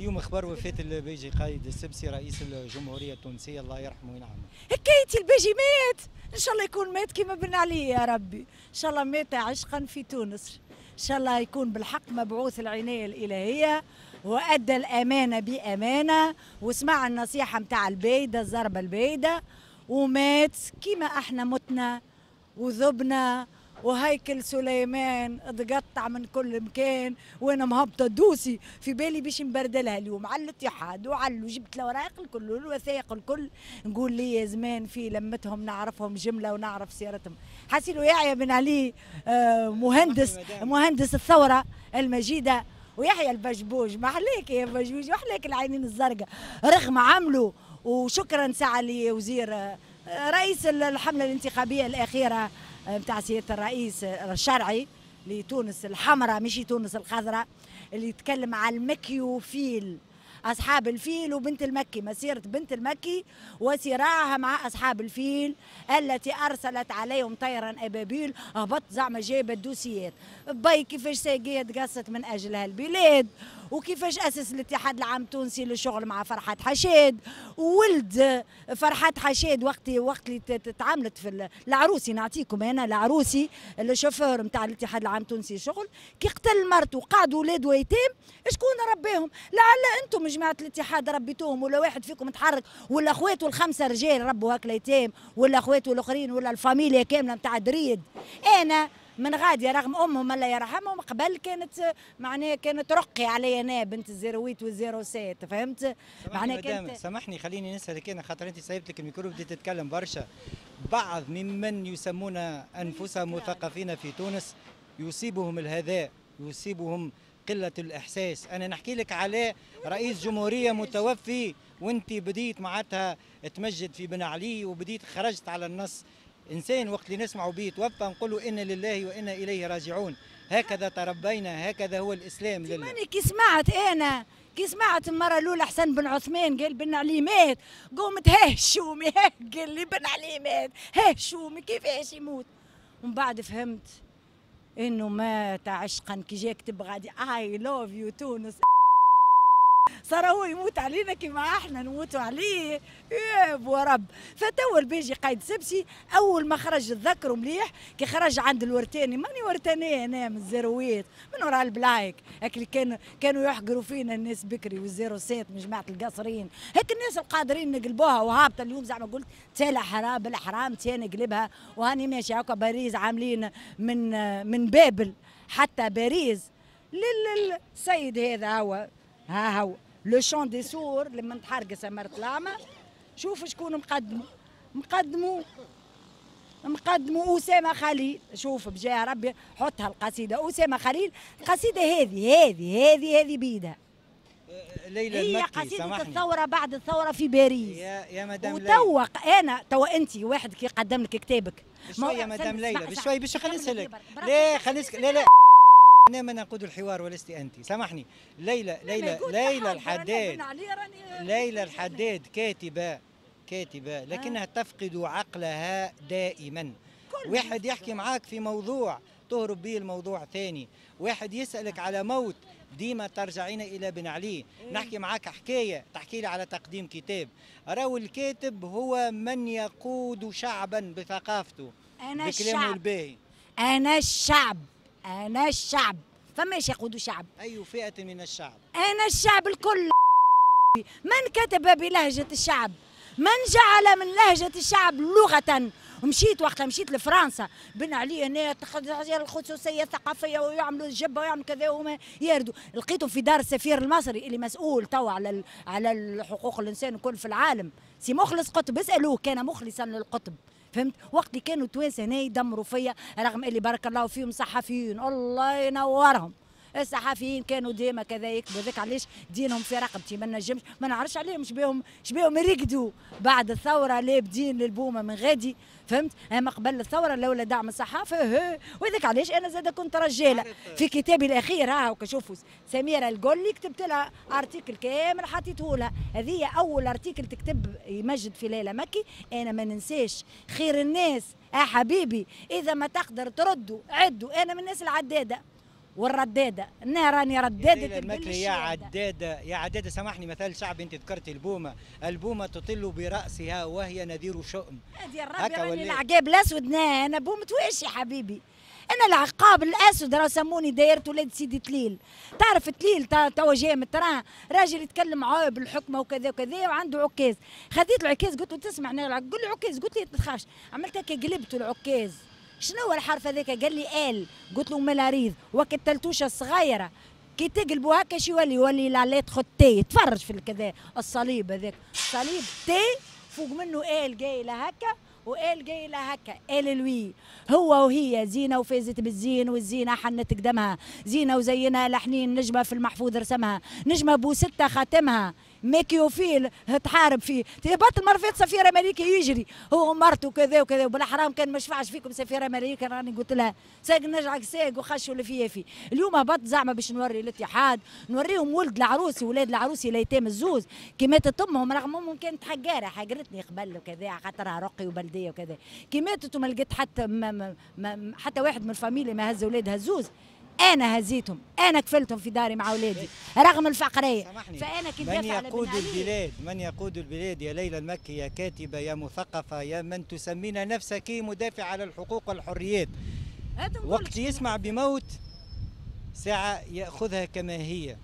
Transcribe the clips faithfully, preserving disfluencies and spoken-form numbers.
اليوم اخبار وفاة الباجي قايد السبسي رئيس الجمهورية التونسية، الله يرحمه وينعمه. حكايتي الباجي مات، ان شاء الله يكون مات كما بن علي يا ربي، ان شاء الله مات عشقا في تونس، ان شاء الله يكون بالحق مبعوث العناية الالهية وادى الامانة بامانه وسمع النصيحة نتاع البايده الضربة البايده ومات كما احنا متنا وذبنا وهيكل سليمان اتقطع من كل مكان. وانا مهبطه dossier في بالي باش نبردلها اليوم على الاتحاد وعلى جبت الاوراق الكل والوثائق الكل، نقول لي يا زمان في لمتهم نعرفهم جملة ونعرف سيرتهم. حسيلو يحيى بن علي مهندس مهندس الثورة المجيدة، ويحيى البجبوج محليك يا بجبوج وحليك العينين الزرقاء رغم عمله. وشكرا ساعة لوزير رئيس الحملة الانتخابية الاخيرة نتاع سيادة الرئيس الشرعي لتونس الحمراء مش تونس الخضراء، اللي يتكلم على المكيوفيل، أصحاب الفيل وبنت المكي، مسيرة بنت المكي وصراعها مع أصحاب الفيل التي أرسلت عليهم طيرا أبابيل. هبط زعما جايبة الدوسيات باي كيفاش ساقية تقصت من أجل هالبلاد، وكيفاش أسس الاتحاد العام التونسي للشغل مع فرحات حشاد، وولد فرحات حشاد وقت وقت اللي تعاملت في العروسي، نعطيكم أنا العروسي الشوفور نتاع الاتحاد العام التونسي للشغل كي قتل مرته وقعدوا ولاده ايتام، شكون ربيهم؟ لعل أنتم جماعة الاتحاد ربيتوهم، ولا واحد فيكم تحرك، ولا اخواته الخمسة رجال ربوا هاك الايتام، ولا اخواته الاخرين، ولا الفاميليا كاملة نتاع دريد. أنا من غادي رغم امهم الله يرحمهم قبل كانت معناها كانت رقي علي انا بنت ال zéro huit وال zéro sept، فهمت؟ معناها كانت. سامحني خليني نسالك انا خاطر انت سايبت لك الميكرو بديت تتكلم برشا. بعض ممن يسمون انفسهم مثقفين في تونس يصيبهم الهذاء، يصيبهم قلة الإحساس. أنا نحكي لك على رئيس جمهورية متوفي وأنت بديت معناتها تمجد في بن علي وبديت خرجت على النص. إنسان وقت اللي نسمعوا به توفى نقولوا إنا لله وإنا إليه راجعون، هكذا تربينا، هكذا هو الإسلام. لله كي سمعت أنا كي سمعت المرة الأولى حسن بن عثمان قال بن علي مات، قومت هشومي قال لي بن علي مات، هشومي كيفاش يموت؟ ومن بعد فهمت انه مات عشقا كي جا كتب غادي I love you تونس، صار هو يموت علينا كيما احنا نموتوا عليه يا بو رب. فتو الباجي قايد سبسي اول ما خرج تذكروا مليح كي خرج عند الورتاني، ماني ورتانيه انا من ال zéro huit من وراء البلايك، هاك اللي كانوا كانوا يحقروا فينا الناس بكري وال zéro sept من جماعة القصرين، هاك الناس القادرين نقلبوها وهابطه اليوم زعما قلت تالا حرام بالحرام تا نقلبها وهاني ماشي هكا. باريس عاملين من من بابل حتى باريس للسيد هذا هو ها هو le chant des sourds لما تحرق سمرة الأعمى. شوف شكون مقدمه، مقدمه مقدمه أسامة خليل. شوف بجاه ربي حطها القصيدة أسامة خليل، القصيدة هذه هذه هذه هذه بيدها ليلى هي المكي. قصيدة الثورة بعد الثورة في باريس يا يا مدام وتوا أنا توا أنت واحد كي قدم لك كتابك بشوي يا مدام ليلى بشوي باش خليني نسألك. لا خليني لا لا أنا من أقود الحوار ولست أنت، سامحني. ليلى ليلى ليلى الحداد ليلى الحداد كاتبة كاتبة لكنها تفقد عقلها دائما. واحد يحكي معاك في موضوع تهرب به الموضوع ثاني، واحد يسألك على موت ديما ترجعين إلى بن علي. نحكي معاك حكاية تحكي لي على تقديم كتاب. راهو الكاتب هو من يقود شعبا بثقافته أنا بكلامه الباهي. أنا الشعب أنا الشعب، فماش يقودوا شعب. أي فئة من الشعب؟ أنا الشعب الكل. من كتب بلهجة الشعب؟ من جعل من لهجة الشعب لغة؟ ومشيت وقتها مشيت لفرنسا بن علي هنا الخصوصية الثقافية ويعملوا الجبة ويعملوا كذا وما يردوا، لقيته في دار السفير المصري اللي مسؤول توا على على حقوق الإنسان الكل في العالم، سي مخلص قطب، اسألوه كان مخلصا للقطب. فهمت؟ وقت اللي كانوا التوانسة هنا يدمروا فيا رغم اللي بارك الله فيهم صحفيين الله ينورهم، الصحفيين كانوا ديما كذا يكتبوا، هذاك علاش دينهم في رقبتي ما نجمش ما نعرفش عليهم شبيهم شبيهم يرقدوا بعد الثورة لابدين للبومه من غادي، فهمت؟ اما قبل الثورة لولا دعم الصحافة، وهذاك علاش انا زاد كنت رجاله. في كتابي الاخير ها شوفوا سميرة القولي كتبت لها article كامل حطيته لها، هذه اول article تكتب يمجد في ليلى مكي. انا ما ننساش خير الناس اه حبيبي، اذا ما تقدر تردوا عدوا، انا من الناس العداده. والرداده، انا راني رداده البل. يا عداده يا عداده سامحني، مثال شعبي انت ذكرتي البومه، البومه تطل براسها وهي نذير شؤم. هذه الربي راني العقاب الاسود، نا انا بومه واش يا حبيبي؟ انا العقاب الاسود راه سموني دايرة ولاد سيدي تليل، تعرف تليل توا جاي من ال train، راجل يتكلم عاب الحكمة وكذا وكذا وعنده عكاز، خذيت العكاز قلت له تسمع، قول لي عكاز، قلت لي ما تخافش، عملت هكا قلبته العكاز، شنو هو الحرف هذاك؟ قال لي ال، قلت له ملاريض، وقت التلتوشه الصغيرة كي تقلبوا هكا شو يولي؟ يولي la lettre T، تفرج في الكذا الصليب هذاك، صليب T فوق منه L جاي هكا و L جاي لها هكا، ال لوي هو وهي زينة وفازت بالزين والزينة حنت قدمها، زينة وزينها لحنين نجمه في المحفوظ رسمها، نجمه بو ستة خاتمها، ميكيوفيل تحارب فيه، تهبط المرفيت سفير امريكي يجري هو ومرته وكذا وكذا، وبالحرام كان ما شفعش فيكم سفير امريكي راني قلت لها ساق نجعك ساق وخشوا اللي فيه فيه. اليوم هبط زعما باش نوري الاتحاد، نوريهم ولد العروسي ولاد العروسي الايتام الزوز كي ماتت امهم، رغم امهم كانت حقارة حقرتني قبل وكذا خاطرها رقي وبلديه وكذا، كي ماتت وما لقيت حتى ما ما حتى واحد من الفاميليا ما هز ولادها الزوز، أنا هزيتهم، أنا كفلتهم في داري مع أولادي رغم الفقرية. فأنا كي من يقود البلاد، من يقود البلاد يا ليلى المكي، يا كاتبة، يا مثقفة، يا من تسمين نفسك مدافع على الحقوق والحريات، وقت يسمع بموت ساعة يأخذها كما هي،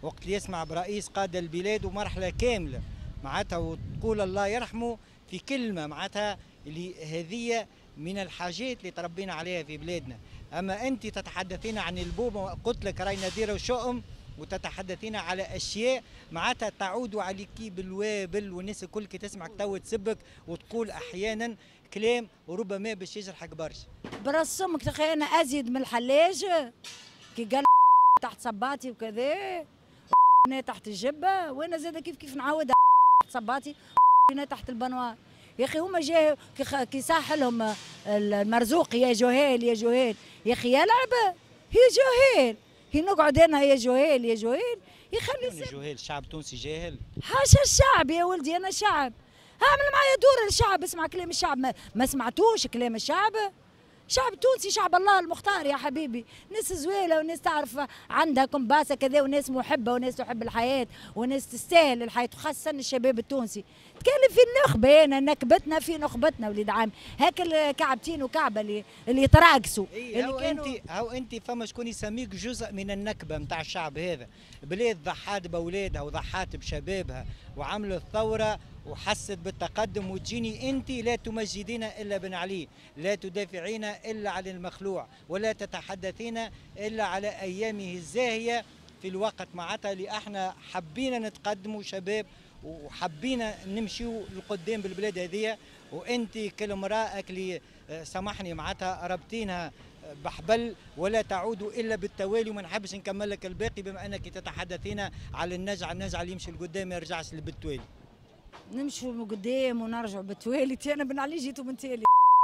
وقت يسمع برئيس قاد البلاد ومرحلة كاملة معناتها وتقول الله يرحمه في كلمة معناتها اللي هذه من الحاجات اللي تربينا عليها في بلادنا. أما أنت تتحدثين عن البومة، قلت لك راي نذير وشؤم، وتتحدثين على أشياء معناتها تعود عليك بالوابل، والناس الكل كي تسمعك تو تسبك وتقول أحيانا كلام وربما باش يجرحك برشا. براس امك تخيل أنا أزيد من الحلاج كي قال تحت صباطي وكذا تحت الجبة، وأنا زاد كيف كيف نعاود تحت صباطي تحت البنوار. يا اخي هما جاي كي صاح لهم المرزوق يا جهال يا جهال، يا اخي يلعب هي جهال، هي نقعد انا يا جهال يا جهال، يخلي جهال. الشعب التونسي جاهل؟ حاشا الشعب يا ولدي، انا شعب، اعمل معايا دور الشعب، اسمع كلام الشعب، ما, ما سمعتوش كلام الشعب؟ شعب تونسي شعب الله المختار يا حبيبي، ناس زويله وناس تعرف عندها كمباسه كذا، وناس محبة وناس تحب الحياة وناس تستاهل الحياة، وخاصة الشباب التونسي. تكلم في النخبة، انا نكبتنا في نخبتنا وليد عام، هاك الكعبتين وكعبه اللي اللي يتراقصوا. إيه اللي كانوا انت هاو انت فما شكون يسميك جزء من النكبة نتاع الشعب هذا، بلاد ضحات باولادها وضحات بشبابها وعملت ثورة وحست بالتقدم، وتجيني انت لا تمجدين الا بن علي، لا تدافعين الا عن المخلوع، ولا تتحدثين الا على ايامه الزاهيه في الوقت معناتها اللي احنا حبينا نتقدموا شباب وحبينا نمشيو لقدام بالبلاد هذه، وانت كل امراة اللي سامحني معناتها ربطينها بحبل ولا تعود الا بالتوالي. وما نحبش نكمل لك الباقي بما انك تتحدثين على النجع، النجع اللي يمشي لقدام ما يرجعش بالتوالي. نمشوا من قدام ونرجعوا بالتوالي، انا بن علي جيتوا من تالي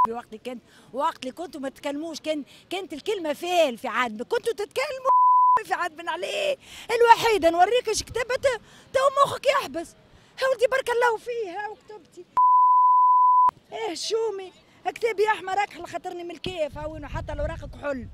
وقت اللي كان وقت اللي كنتوا ما تتكلموش، كان كانت الكلمة فال في عاد كنتوا تتكلموا في عاد بن علي الوحيدة. نوريك اش كتبت تو مخك يحبس. ها ولدي بارك الله فيه، ها وكتبتي ايه شومي كتابي احمر اكحل خاطرني من الكيف، ها وين حتى الاوراق كحل،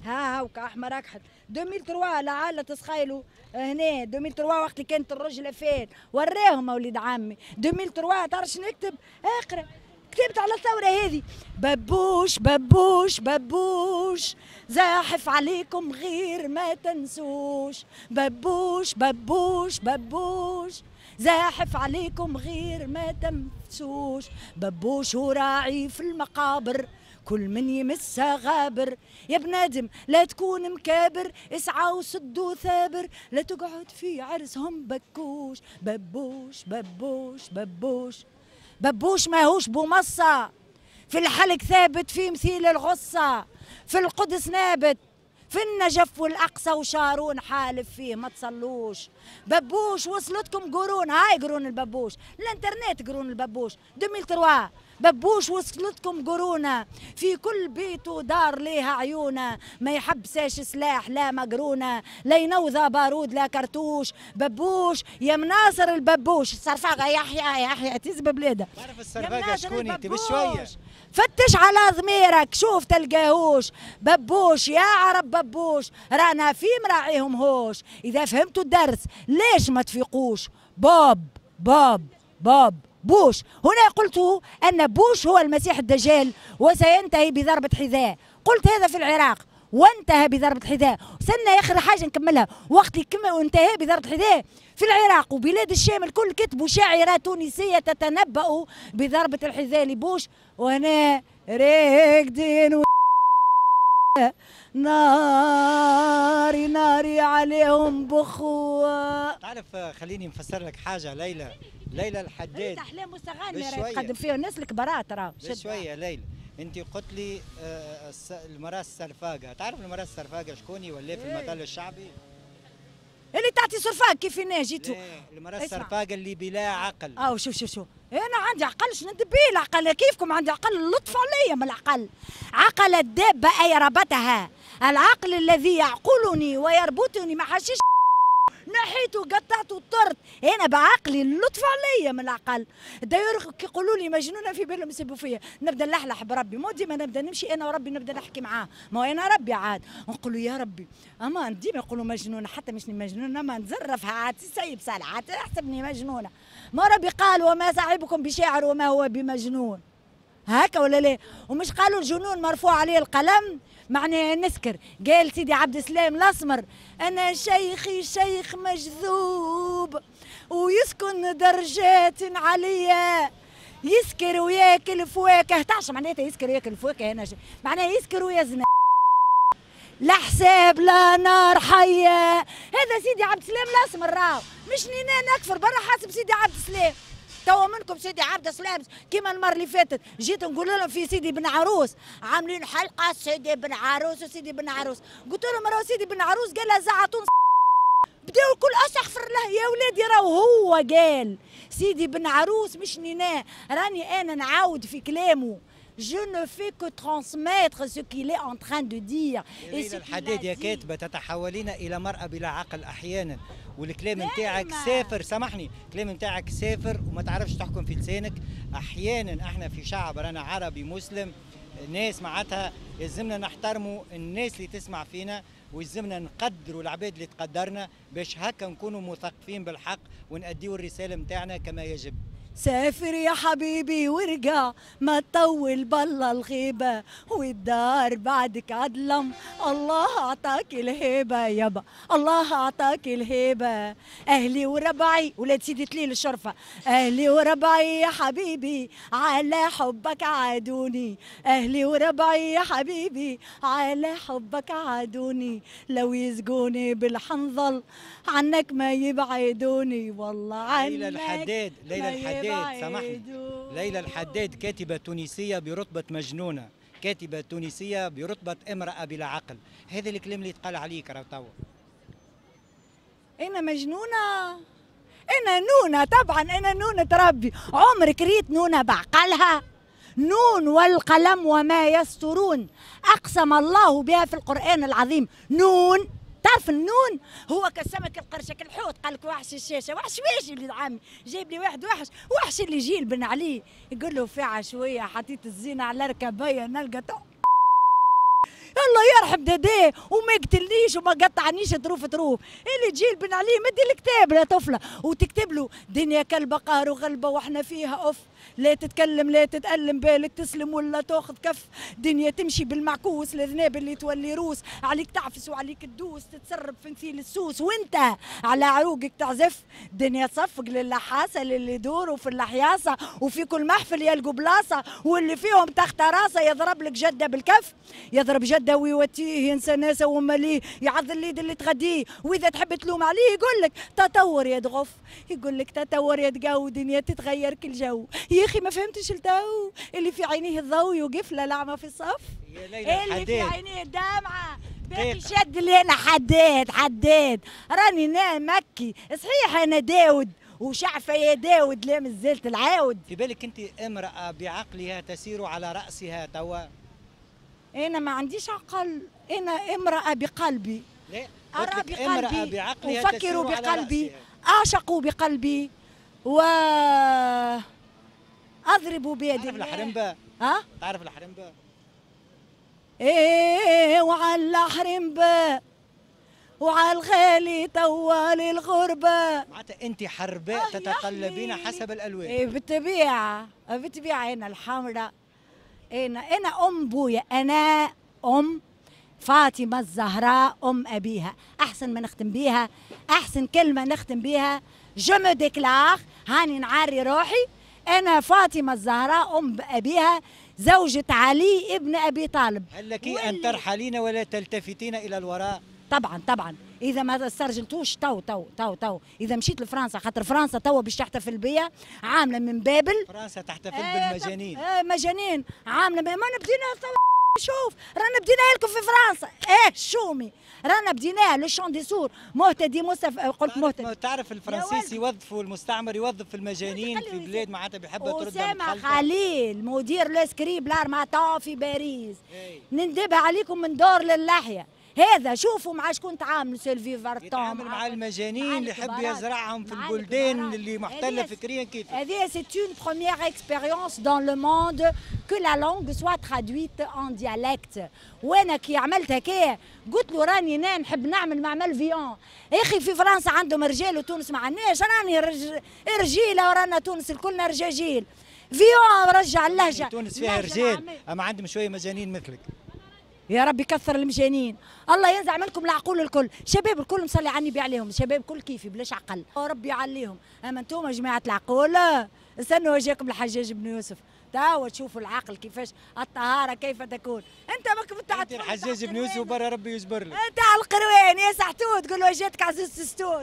ها هاوكا احمر اكحل ألفين وثلاثة لعل تسخيلوا هنا ألفين وثلاثة وقت اللي كانت الرجله فين وراهم وليد عمي ألفين وثلاثة. تعرف شنو نكتب؟ اقرا كتبت على الثورة هذه ببوش ببوش ببوش زاحف عليكم غير ما تنسوش، ببوش ببوش ببوش زاحف عليكم غير ما تنسوش، ببوش وراعي في المقابر كل من يمسها غابر، يا بنادم لا تكون مكابر اسعى وسد وثابر لا تقعد في عرسهم بكوش، ببوش ببوش ببوش ببوش ماهوش بومصة في الحلق ثابت في مثيل الغصة، في القدس نابت في النجف والأقصى وشارون حالف فيه ما تصلوش، ببوش وصلتكم قرون، هاي قرون الببوش، الانترنت قرون الببوش ألفين وثلاثة ببوش وصلتكم قرونه، في كل بيت ودار ليها عيونه، ما يحبساش سلاح لا مقرونة، لا ينوضى بارود لا كرتوش. ببوش يا مناصر الببوش، الصرفاقه يحيى يحيى تزب بلاده. تعرف الصرفاقه شكون انت بشوية؟ فتش على ضميرك شوف تلقاهوش. ببوش يا عرب ببوش، رانا في مراعيهم هوش. اذا فهمتوا الدرس ليش ما تفيقوش؟ باب باب باب بوش. هنا قلت أن بوش هو المسيح الدجال وسينتهي بضربة حذاء. قلت هذا في العراق وانتهى بضربة حذاء. سنة آخر حاجة نكملها، وقت اللي انتهى بضربة حذاء في العراق وبلاد الشام الكل كتبوا شاعرة تونسية تتنبأ بضربة الحذاء لبوش، وهنا راقدين و... ناري ناري عليهم بخوة. تعرف خليني نفسر لك حاجة ليلى. ليلى الحداد أحلام مستغانمة راهي تقدم فيها الناس الكبارات راه. شوية ليلى، أنت قلت لي المرأة السرفاقة، تعرف المرأة السرفاقة شكوني ولا في المثل الشعبي؟ اللي تعطي صرفاق كيف انا جيتو. المرأة السرفاقة اللي بلا عقل. اه شوف شوف شوف، انا عندي عقل شنو ندبي العقل كيفكم، عندي عقل اللطف عليا من العقل. عقل الدابة اي ربتها، العقل الذي يعقلني ويربطني مع حشيش نحيته قطعته وطرت، انا بعقلي اللطف عليا من العقل. داير كيقولوا لي مجنونة في بالهم يسبوا فيا، نبدا نلحلح بربي، مو ديما نبدا نمشي انا وربي نبدا نحكي معاه، ما انا ربي عاد، نقول له يا ربي اما ديما يقولوا مجنونة حتى مش مجنونة، ما نزرفها عاد سيب صالح عاد احسبني مجنونة. ما ربي قال وما صاحبكم بشاعر وما هو بمجنون، هكا ولا لا؟ ومش قالوا الجنون مرفوع عليه القلم، معناها نسكر. قال سيدي عبد السلام الاسمر انا شيخي شيخ مجذوب ويسكن درجات عليا، يسكر وياكل فواكه. تعرف معناتها يسكر وياكل فواكه؟ انا معناها يسكر ويزنى، لا حساب لا نار حيه. هذا سيدي عبد السلام الاسمر راهو، مش نينا نكفر برا حاسب سيدي عبد السلام. توا منكم سيدي عبد السلام كيما المرة اللي فاتت جيت نقول لهم في سيدي بن عروس عاملين حلقة سيدي بن عروس وسيدي بن عروس، قلت لهم راهو سيدي بن عروس قال لها زعتون، بداو الكل استغفر الله يا ولادي راهو هو قال سيدي بن عروس مش نينا، راني انا نعاود في كلامه. Je ne fais que transmettre ce qu'il est en train de dire. ليلى الحداد يا كاتبة تتحولين إلى مرأة بلا عقل أحيانا، والكلام نتاعك سافر، سامحني، الكلام نتاعك سافر وما تعرفش تحكم في لسانك. أحيانا احنا في شعب رانا عربي مسلم، ناس معناتها يلزمنا نحترموا الناس اللي تسمع فينا، ويلزمنا نقدروا العباد اللي تقدرنا باش هكا نكونوا مثقفين بالحق ونأديوا الرسالة نتاعنا كما يجب. سافر يا حبيبي وارجع ما تطول بالله الغيبة، والدار بعدك عدلم، الله أعطاك الهيبة يابا، الله أعطاك الهيبة. أهلي وربعي ولاد سيدي تليل الشرفة، أهلي وربعي يا حبيبي على حبك عادوني، أهلي وربعي يا حبيبي على حبك عادوني، لو يسقوني بالحنظل عنك ما يبعدوني، والله عنك. ليلى الحداد، ليلى الحداد سامحني، ليلى الحداد كاتبة تونسية برتبة مجنونة، كاتبة تونسية برتبة امرأة بلا عقل، هذا الكلام اللي يتقال عليك راه توا. أنا مجنونة؟ أنا نونة طبعا، أنا نونة ربي، عمرك ريت نونة بعقلها؟ نون والقلم وما يسطرون، أقسم الله بها في القرآن العظيم. نون، تعرف النون هو كالسمك القرشك الحوت، قال لك وحش الشاشة، وحش واش اللي عامي جايب لي واحد وحش، وحش اللي يجي بن علي يقول له في عشويه حطيت الزينة على ركبيه نلقى الله يرحم داداه وما يقتلنيش وما قطعنيش طروف طروف. اللي تجي بن علي مدي الكتاب يا طفله وتكتب له دنيا كلبه قهر وغلبه واحنا فيها اوف، لا تتكلم لا تتألم بالك تسلم ولا تاخذ كف، دنيا تمشي بالمعكوس الذناب اللي تولي روس، عليك تعفس وعليك تدوس تتسرب في مثيل السوس وانت على عروقك تعزف، دنيا تصفق للحاسه للي يدوروا في الحياصه وفي كل محفل يلقوا بلاصة واللي فيهم تحت راسه يضرب لك جده بالكف، يضرب جده ويوتيه ينسى ناسه وماليه يعض الليد اللي تغديه، واذا تحب تلوم عليه يقول لك تطور يا دغف، يقول لك تطور يا دقاو دنيا تتغير كل جو. يا اخي ما فهمتش التو اللي في عينيه الضوء يوقف له لعمه في الصف، يا ليلى اللي في عينيه الدمعة باقي شد اللي انا حداد حداد راني نا مكي صحيح انا داود وشعفه يا داود لا مازالت العاود. في بالك انت امراة بعقلها تسير على راسها توا؟ انا ما عنديش عقل، انا امراة بقلبي. لا، ارى بقلبي، بعقلها افكر بقلبي، اعشق بقلبي، و اضرب بيدي. تعرف الحرمبه؟ ها؟ تعرف الحرمبه؟ ايه وعلى الحرمبه وعلى الغالي طوال الغربة. معناتها انت حرباء تتقلبين حسب الالوان. ايه بالطبيعة بالطبيعة، انا الحمراء، انا انا ام بويا، انا ام فاطمة الزهراء ام ابيها. احسن ما نختم بيها، احسن كلمة نختم بيها، je me déclare، هاني نعري روحي، انا فاطمة الزهراء ام ابيها زوجة علي ابن ابي طالب. هل لك ان ترحلين ولا تلتفتين الى الوراء؟ طبعا طبعا، اذا ما استرجلتوش تو تو تو تو اذا مشيت لفرنسا، خاطر فرنسا تو باش تحتفل بيا، عامله من بابل. فرنسا تحتفل آه بالمجانين. آه مجانين، عامله ما بدينا. شوف رانا بديناها لكم في فرنسا، ايه شومي رانا بديناها le chant des sourds. مهتدي مصطفى، قلت مهتدي. تعرف الفرنسيس يوظفوا المستعمر، يوظف المجانين في بلاد معناتها بيحبها تردها. أسامة خليل مدير le scribe l'Harmattan في باريس، نندبها عليكم من دور للحيه. هذا شوفوا مع شكون تعاملوا، سيلفي فارتون يتعامل مع المجانين اللي يحب يزرعهم في البلدان اللي محتلة فكريا. كيف هذه c'est une première expérience dans le monde que la langue soit traduite en dialecte. وانا كي عملت هكايا قلت له راني انا نحب نعمل معمل فيون. يا اخي في فرنسا عندهم رجال وتونس ما عندناش، راني رج... رجيله ورانا تونس الكلنا رجاجيل. فيون رجع اللهجة. تونس فيها رجال اما عندهم شوية مجانين مثلك. يا رب يكثر المجانين، الله ينزع منكم العقول الكل، شباب الكل مصلي على النبي عليهم، شباب كل كيفي بلاش عقل، ربي يعليهم، اما انتم جماعة العقول استنوا جاكم الحجاج بن يوسف، توا تشوفوا العقل كيفاش، الطهارة كيف تكون، انت ماك بتاع الحجاج بن يوسف برا ربي يجبر لك. انت على القروان يا سحتوت، تقول له جاتك عزوز ستوت.